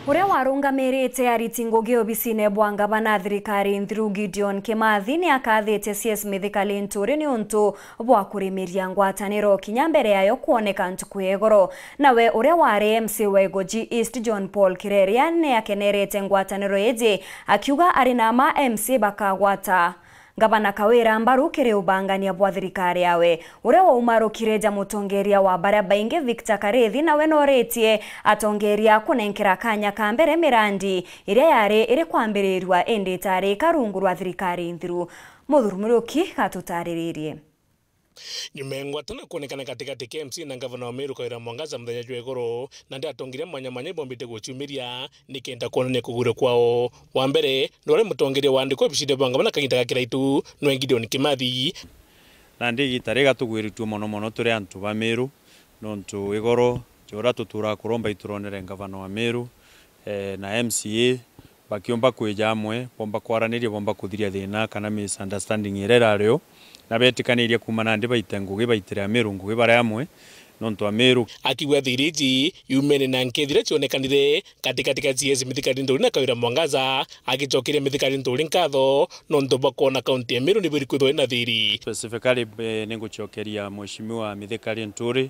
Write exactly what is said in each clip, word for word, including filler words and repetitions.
Uria warungamirite ariti ngugi obisine bwa ngavana thirikari nthiru Gideon Kimathi ni akathitie C S Mithika Linturi ni untu bwa kurimiria ngwataniro kinya mbere yayo kwoneka ntuku ya igoro. Nawe uria wari M C wa Igoji East John Paul Kireria ni akenerete ngwataniro iji, akiuga ari na ma M C bakagwata Ngavana Kawira mbaru kiri ubangania bwa thirikari yawe. Uria waumarukire ja mutongeria wa baria baingi Victor Karithi nawe noritie atongeria kunenkera kanya ka mbere mirandi iria yari iri kwambirirua indi itari karungu rwa thirikari nthiru. Muthuri Muriuki gatutariririe. Nyuma ya ngwatano kwonekana gatigati ka M C na ngavana wa Meru Kawira Mwangaza muthenya jwa igoro, nandi atongeria mwanya mwanya ibombite guciumiria nikenda kwonania kugwirua kwao. Wa mbere, ni uria mutongeria waandikwa obisine bwa ngavana kagiita ga kiraitu, nwe Gideon Kimathi. Nandi igiita riga tugwiritue mono mono turi antu ba Meru, nontu igoro ja uria tuturaga kuromba ituronere ngavana wa Meru, eh, na M C A, bakiumba kwija amwe, bomba kwaraniria, bomba kuthiria thina kana misunderstanding iria irari o, na betikaniria kuuma nandi baite ngugi, baitire Amiru ngugi bari amwe, nontu Amiru. Akiuga thiri iji iumene na nkethira cionekanire gatigati ka C S Mithika Linturi na Kawira Mwangaza, agicokeria Mithika Linturi nkatho nontu bwa kwona kaunti ya Meru ni buri kwithwa ina thiri. Specifically, eh, ningucokeria Mheshimiwa Mithika Linturi,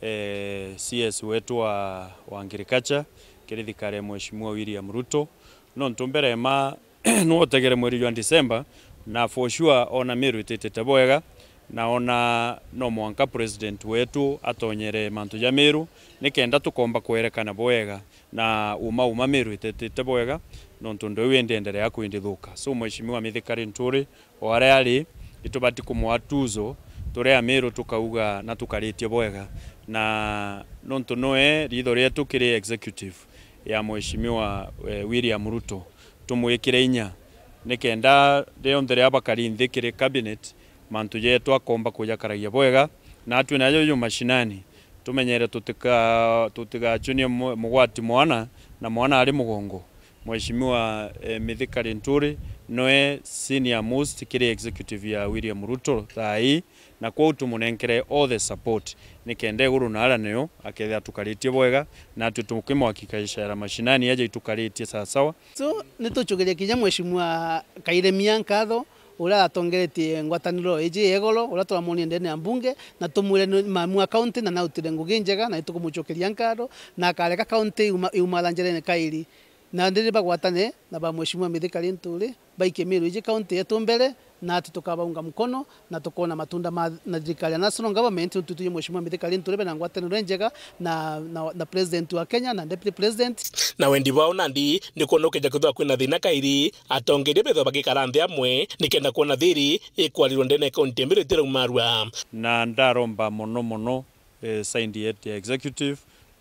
eh, C S wetu wa, wa agriculture, kiri thirikari ya Mheshimiwa William Ruto. Nontu mbere ma nwotegere mweri jwa December, na for sure ona Meru ititite bwega, na ona no mwanka president wetu atonyere mantu ja Meru, nikenda tukomba kwerekana bwega, na uma uma Meru ititite bwega, nontu ndio iu indi endelea kwindithuka. So, Mheshimiwa Mithika Linturi, o aria ari, itubati kumwa tuzo, turi Amiru tukauga na tukaritie bwega. Na nontu noe riitho rietu kiri executive ya Mheshimiwa, eh, William Ruto, tumwikire inya, nikenda rionthe riria bakari nthi kiri cabinet, mantu jetu akomba kujakaragia bwega, na atwi najo ju mashinani, tumenyere tutika-, tutigachunie mu-, mugwati mwana, na mwana ari mugongo. Mheshimiwa, eh, Mithika Linturi noe senior most kiri executive ya William Ruto thaa ii, na kwou tumunenkere all the support, nikenda iguru na aria nio akethira tukaritie bwega, na atwi tukimwakikishira mashinani aja itukaritie sawasawa. So, nitucukiria kinya Mheshimiwa Kairemia nkatho, uria atongeretie ngwataniro iji ya igoro, uria turamwonie ndene ya mbunge, na tumwire ni mamu wa county na nautire ngugi njega, na nitukumucokeria nkatho, na akareka county iuma-, iumara njerene kairi. Na ndiri bagwatane na ba Mheshimiwa Mithika Linturi, baikie Meru iji county yetu mbere, na ati tukabaunga mkono, na tukoona matunda ma, na thirikari ya national government, nontu twi Mheshimiwa Mithika Linturi bena ngwataniro injega na, na, na president wa Kenya na deputy president. Na wendi bwao nandi ni kwona ukeja kwithirwa kwina thina kairi, atongeria bethirwa bagikara nthi amwe, nikenda kwona thiri ikwarirwa ndene ya kaunti ya Meru itiraumarua. Na ndaromba mono mono, eh, side yetu ya executive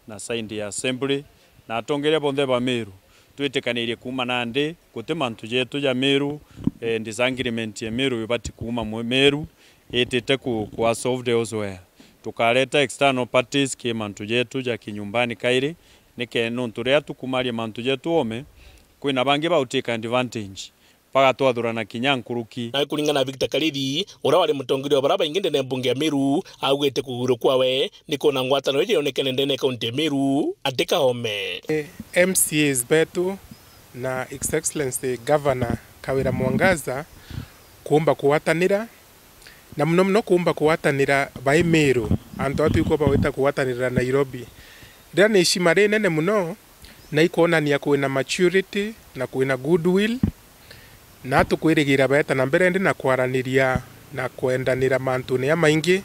na side ya assembly, na atongeria bonthe ba Meru, twitikanirie kuuma nandi, guti mantu jetu ja Meru, eh, disagreement ya Meru ibati kuuma mwe-, Meru, itite ku, ku solved elsewhere. Tukareta external parties ki mantu jetu ja kinyumbani kairi, nike nontu riria tukumaria mantu jetu oome, kwina bangi bautake advantage, bagatwathurana kinya nkuruki. Nawe kuringana na Victor Karithi, uria wari mutongeria wa baria baingi ndene ya mbunge ya Meru, augite kugwirua kwawe ni kwona ngwataniro iji yonekene ndene ya kaunti ya Meru, ati kaome. M C As betu na His Excellency Governor Kawira Mwangaza kuumba kugwatanira, na muno muno kuumba kugwatanira bai Meru, antu aa twikwa bagwita kugwatanira Nairobi. Riria ni ishima rinene muno, na ikwonania kwina maturity na kwina goodwill, na tukwirigira beeta na mbere ndi na kwaraniria na kwendanira mantune jamaingi,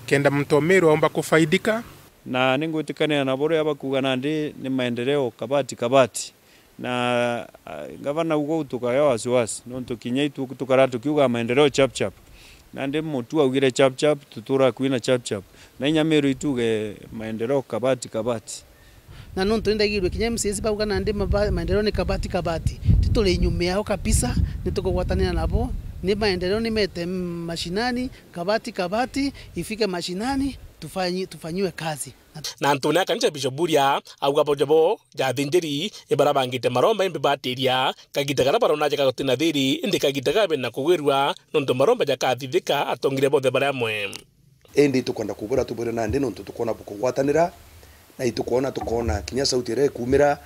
kenda muntu o Meru aumba kufaidika. Na ningwitikanira na buria bakuuga nandi ni maendeleo kabati kabati. Na, ah, ngavana, ugwe tukagea wasiwasi, nontu kinya itu tukara tukiuga maendeleo chap chap. Nandi mutu augire chap chap, tutura kwina chap chap. Na inya Meru ituge maendeleo kabati kabati. Na nontu nindaigirue kinya M C As bauga nandi maba-, maendeleo ni kabati kabati. Tituri nyuma yao kabisa, nitukugwatanira nabo. Ni maendeleo nimete mashinani, kabati kabati, ifike mashinani, tufanyi-, tufanyiwe kazi. Na antune a kanisa Bishop Buria auga bo jabo ja athinjiri ni baria bangite maromba imbi batiria kagita karia barona jaka gutina thiri, indi kagita gabe na kugwirua nontu maromba jakathithika atongire bonthe bari amwe. Indi tukwenda kubura tubwire nandi nontu tukwona bukugwatanira, na itukwona, tukwona kinya sauti iria ikumira,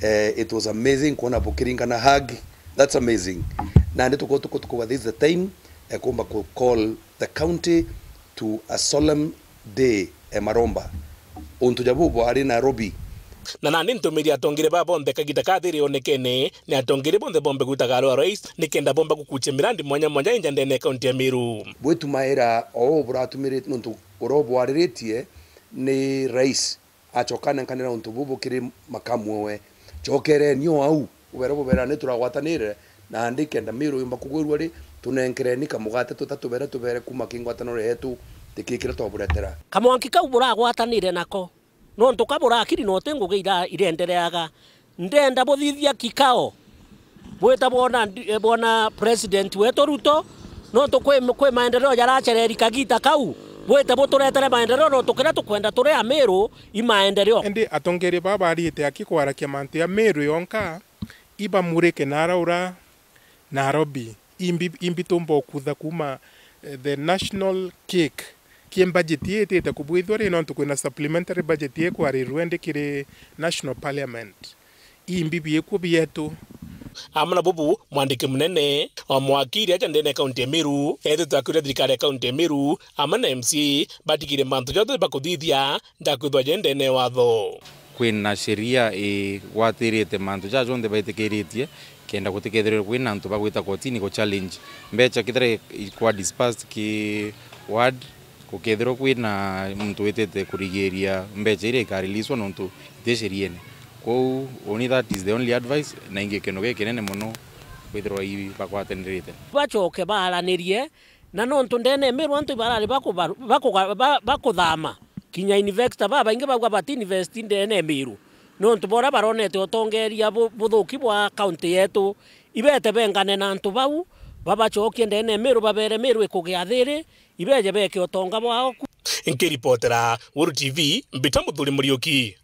Eh, it was amazing kwona bukiringana hug. That's amazing. Nandi tuko, tuko, tuko, this is the time, eh, kumba ku call the county to a solemn day, eh, maromba. Untu ja bubu ari Nairobi. Na nandi ntumiri atongeria baa bonthe kagita kathiri onekene, ni atongeria bonthe bombe gwitaga arua rais, nikenda bomba gukuchia mirandi mwanya mwanya inja ndene ya kaunti ya Meru. Bwitumaira o buratumiri nuntu uria ubwariritie ni rais. Acoka anenkanira untu bubu kiri makamu owe. Cokereni o au, ubere bubera ni turagwatanire, nandi kenda Miru yumba kugwirua ri, tunenkereni kamugate tuta tubere tubere kuma ki ngwataniro yetu, tiki kiria twaburetera. Kamwanki kau buragwatanire nako, nontu ka burakiri na uti ngugi ira-, irendereaga. Ndenda buthithia kikao. Bwita bwona ndi-, eh, bwona president wetu Ruto, nontu kwi, kwi maendeleo jaracereri kagita kau. Bwite buturetere maendeleo, nontu kiria tukwenda turi Amiru i maendeleo. Indi atongeria baa barite aki kwarakia mantu ya Miru yonka, ibamurike nara ura Nairobi. Imbi, imbi tumba ukutha kuma, eh, the national cake. Ki budget ii itite kubwithua ri, nontu kwina supplementary budget ikwarirua indi kiri National Parliament. Imbi biikuo bietu. Amwe na bubu, mwandiki munene wa mwakiri aja ndene ya kaunti ya Meru, ethitwe akiuria thirikari ya kaunti ya Meru, amwe na M C A, batigire mantu jonthe bakuthithia, ndakwithwa je ndene ya watho. Kwina sheria igwatirite mantu ja jonthe baitikiritie, kenda gutikethirwe kwina antu bagwita kotini ku challenge mbecha kethira ikwa dispersed ki ward, gukethirwa kwina muntu witite kurigiria mbecha iria ikareleaswa nontu iti sheriene. Kwou, uni that is the only advice, na ingi kintu gikinene mono kwithirwa i bagwatanirite. Bacoke baaranirie, na nontu ndene ya Meru antu ibarari bakubaru-, bakuga-, ba-, bakuthama, kinya investor babaingi bauga bati invest ndene ya Meru, nontu bora baronete utongeria bu-, buthuki bwa kaunti yetu, ibete bengane na antu bau, babacokie ndene ya Meru, babere Meru ikugia thiri, ibeje beke utonga bwao ku. Nkiripotera Weru T V, Mbita Muthuri Muriuki.